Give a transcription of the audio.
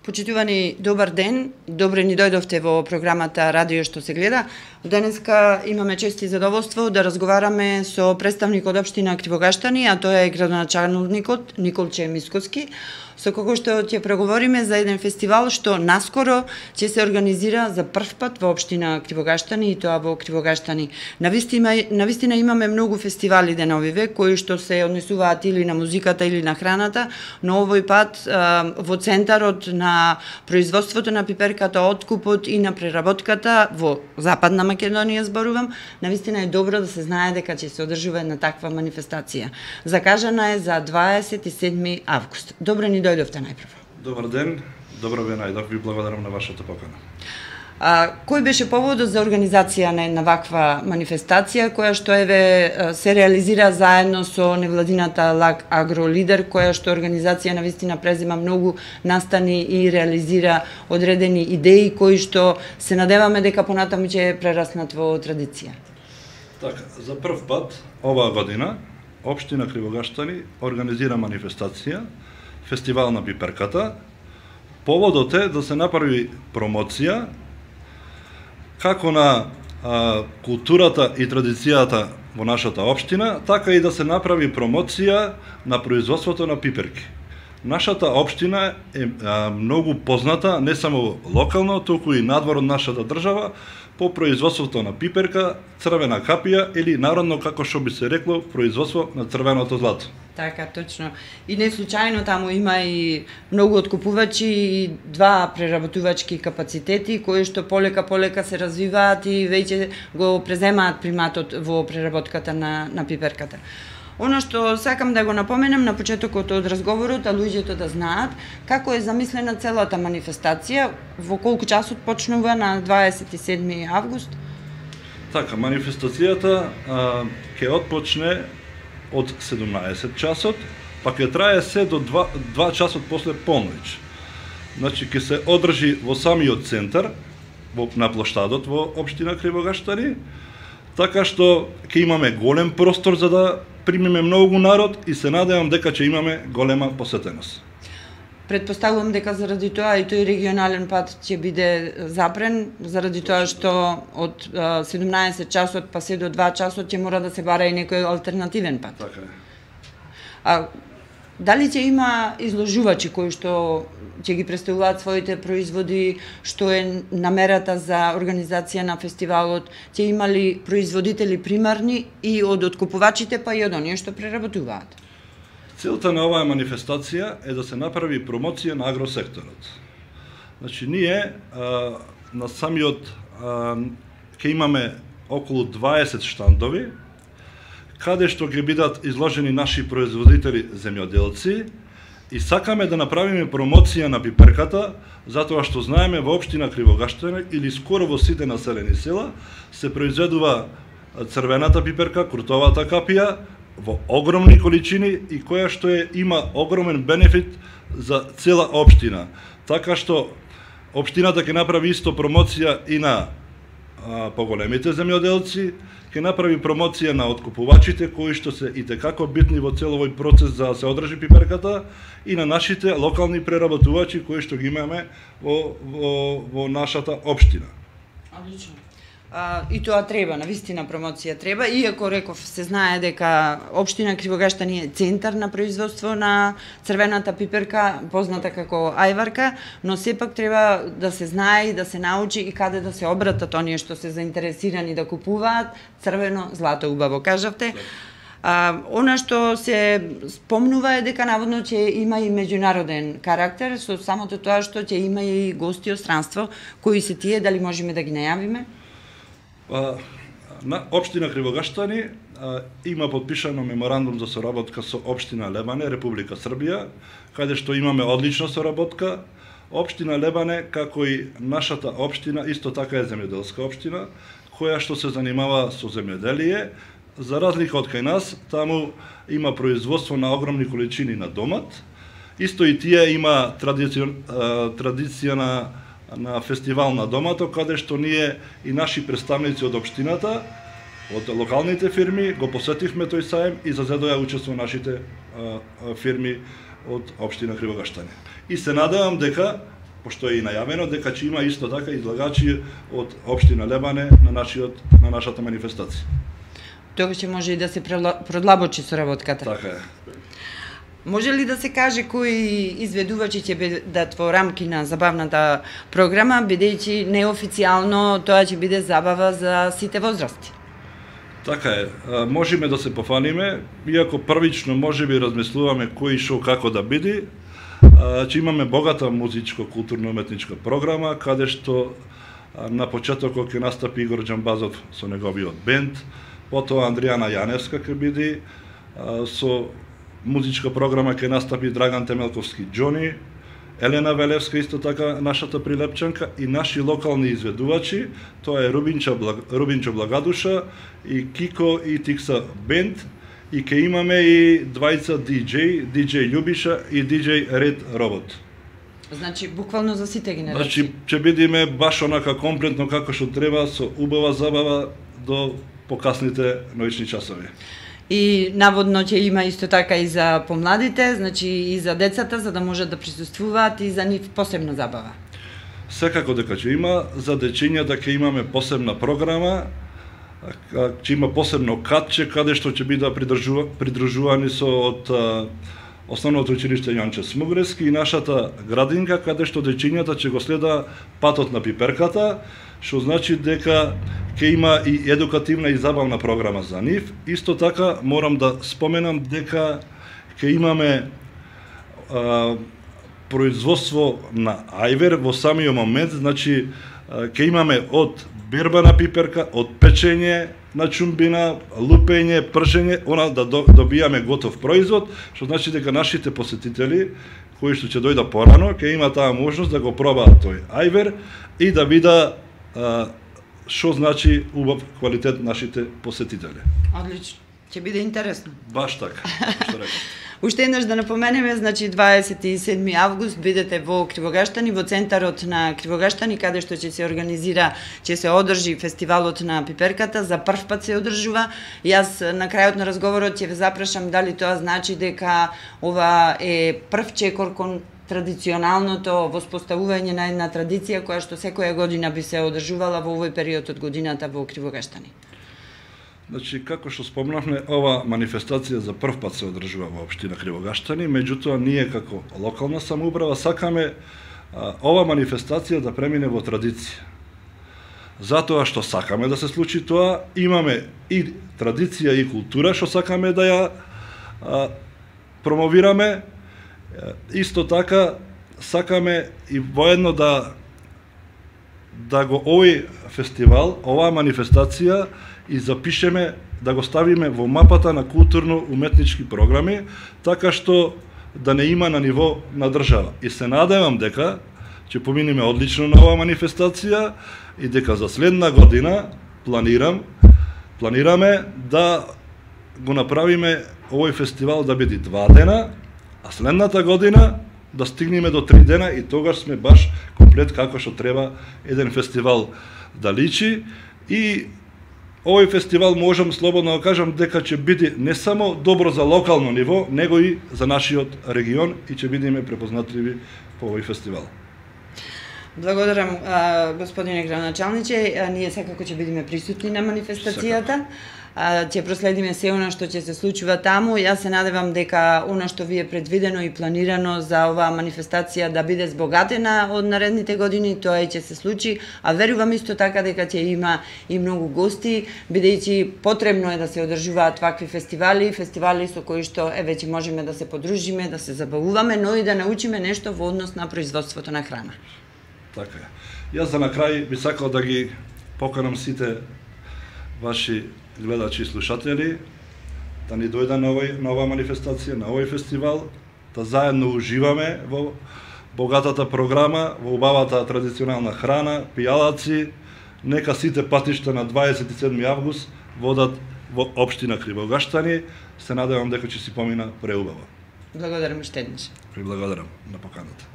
Почитувани, добар ден. Добре ни дојдовте во програмата Радио што се гледа. Денеска имаме чест и задоволство да разговараме со представник од општина Кривогаштани, а тоа е градоначалникот Николче Мисковски, со кого што ќе преговориме за еден фестивал што наскоро ќе се организира за прв пат во општина Кривогаштани и тоа во Кривогаштани. Навистина имаме многу фестивали деновиве кои што се однесуваат или на музиката или на храната, но овој пат во центарот на производството на пиперката, откупот и на преработката во Западна Македонија зборувам, навистина е добро да се знае дека ќе се одржува една таква манифестација. Закажана е за 27 август. Добро ни дојдовте најпрво. Добар ден, добро ве најдов, ви благодарам на вашата покана. Кој беше поводот за организација на една ваква манифестација, која што се реализира заедно со невладината ЛАГ Агролидер, која што организација навистина презема многу настани и реализира одредени идеи кои што се надеваме дека понатаму ќе прераснат во традиција? Така, за прв пат оваа година општина Кривогаштани организира манифестација, фестивал на пиперката. Поводот е да се направи промоција како на културата и традицијата во нашата општина, така и да се направи промоција на производството на пиперки. Нашата општина е многу позната не само локално, туку и надвор од нашата држава по производството на пиперка, црвена капија или народно како што би се рекло производство на црвеното злато. Така, точно. И не случајно таму има и многу откупувачи и два преработувачки капацитети кои што полека се развиваат и веќе го преземаат приматот во преработката на пиперката. Оно што сакам да го напоменам на почетокот од разговорот, а луѓето да знаат како е замислена целата манифестација, во колку часот почнува на 27 август? Така, манифестацијата ќе отпочне од 17 часот, па ќе трае се до 2 часот после полноќ. Значи, ќе се одржи во самиот центар, на плоштадот во општина Кривогаштани, така што ќе имаме голем простор за да примиме многу народ и се надевам дека ќе имаме голема посетеност. Предпоставувам дека заради тоа и тој регионален пат ќе биде запрен, заради тоа што од 17 часот па се до 2 часот ќе мора да се бара и некој алтернативен пат. Така е. Дали ќе има изложувачи кои што ќе ги представуваат своите производи, што е намерата за организација на фестивалот, ќе има ли производители примарни и од откупувачите па и од оние што преработуваат? Целта на оваа манифестација е да се направи промоција на агросекторот. Значи, ние на самиот ќе имаме околу 20 штандови, каде што ќе бидат изложени наши производители земјоделци и сакаме да направиме промоција на пиперката, затоа што знаеме во општина Кривогаштани или скоро во сите населени села се произведува црвената пиперка, крутовата капија во огромни количини и која што има огромен бенефит за цела општина. Така што општината ќе направи исто промоција и на поголемите земјоделци, ќе направи промоција на откупувачите кои што се итекако битни во цел овој процес за да се одржи пиперката и на нашите локални преработувачи кои што ги имаме во нашата општина. Одлично. И тоа треба, навистина промоција треба, иако реков се знае дека општина Кривогаштани е центар на производство на црвената пиперка, позната како ајварка, но сепак треба да се знае и да се научи и каде да се обратат оние што се заинтересирани да купуваат црвено злато, убаво кажавте. Она што се спомнува е дека наводно ќе има и меѓународен карактер, со самото тоа што ќе има и гости од странство, кои се тие, дали можеме да ги најавиме? На општина Кривогаштани има подпишано меморандум за соработка со општина Лебане, Република Србија, каде што имаме одлична соработка. Општина Лебане, како и нашата општина, исто така е земјоделска општина, која што се занимава со земјоделие. За разлика од кај нас, таму има производство на огромни количини на домат. Исто и тие има традиција на фестивал на домато, каде што ние и наши представници од општината, од локалните фирми, го посетивме тој саем и за да учествува нашите фирми од општина Кривогаштани. И се надевам дека пошто е и најавено дека ќе има исто така излагачи од општина Лебане на нашата манифестација. Тогаш ќе може и да се продлабочи соработката. Така е. Може ли да се каже кои изведувачи ќе бидат во рамки на забавната програма, бидејќи неофицијално тоа ќе биде забава за сите возрасти? Така е, можеме да се пофаниме, иако првично можеби размислуваме кој шо како да биде, че имаме богата музичко-културно-уметничка програма, каде што на почетокот ќе настапи Игор Џамбазов со неговиот бенд, потоа Андријана Јаневска ќе биде, со музичка програма ќе настапи Драган Темелковски Џони, Елена Велевска исто така нашата прилепчанка и наши локални изведувачи, тоа е Рубинчо Благадуша и Кико и Тикса бенд, и ќе имаме и двајца диџеј Љубиша и диџеј Ред Робот. Значи буквално за сите генерации. Значи ќе бидеме баш онака комплетно како што треба, со убава забава до покасните ноќни часови. И наводно ќе има исто така и за помладите, значи и за децата, за да можат да присуствуваат и за нив посебна забава. Секако дека ќе има, за дечињата ќе имаме посебна програма, ќе има посебно катче каде што ќе бидат придружувани со од Основното училиште Јанче Смугрески и нашата градинка, каде што дечињата ќе го следа патот на пиперката, што значи дека ќе има и едукативна и забавна програма за нив. Исто така морам да споменам дека ќе имаме производство на ајвер во самиот момент, значи ќе имаме од берба на пиперка, од печење на чумбина, лупење, пршење, да добијаме готов производ, што значи дека нашите посетители кои што ќе дојдат порано, ќе има таа можност да го пробаат тој ајвер и да вида што значи убав квалитет нашите посетители. Одлично. Ќе биде интересно. Баш така, што рекам. Уште еднаш да напоменеме, значи 27 август бидете во Кривогаштани, во центарот на Кривогаштани, каде што ќе се организира, ќе се одржи фестивалот на пиперката, за прв пат се одржува. Јас на крајот на разговорот ќе ве запрашам дали тоа значи дека ова е прв чекор кон традиционалното воспоставување на една традиција која што секоја година би се одржувала во овој период од годината во Кривогаштани. Значи, како што спомнавме, ова манифестација за прв пат се одржува во општина Кривогаштани, меѓутоа ние како локална самоуправа сакаме ова манифестација да премине во традиција. Затоа што сакаме да се случи тоа, имаме и традиција и култура што сакаме да ја промовираме, исто така сакаме и воедно да го овој фестивал, оваа манифестација и запишеме, да го ставиме во мапата на културно-уметнички програми, така што да не има на ниво на држава. И се надевам дека ќе поминеме одлично на оваа манифестација и дека за следна година планираме да го направиме овој фестивал да биде 2 дена, а следната година да стигнеме до 3 дена и тогаш сме баш комплет како што треба еден фестивал да личи. И овој фестивал можам слободно да кажам дека ќе биде не само добро за локално ниво, него и за нашиот регион и ќе бидеме препознатливи по овој фестивал. Благодарам, господине градоначалниче. Ние секако ќе бидеме присутни на манифестацијата. Ќе проследиме се она што ќе се случува таму. Јас се надевам дека она што ви е предвидено и планирано за оваа манифестација да биде збогатена од наредните години, тоа и ќе се случи, а верувам исто така дека ќе има и многу гости, бидејќи потребно е да се одржуваат вакви фестивали со кои што веќе можеме да се подружиме, да се забавуваме, но и да научиме нешто во однос на производството на храна. Така е. Јас за на крај би сакал да ги поканам сите ваши гледачи и слушатели да ни дојдат на оваа манифестација, на овој фестивал, да заедно уживаме во богатата програма, во убавата традиционална храна, пијалаци. Нека сите патишта на 27 август водат во општина Кривогаштани. Се надевам дека ќе си помина преубаво. Благодарам уште еднаш. Благодарам на поканата.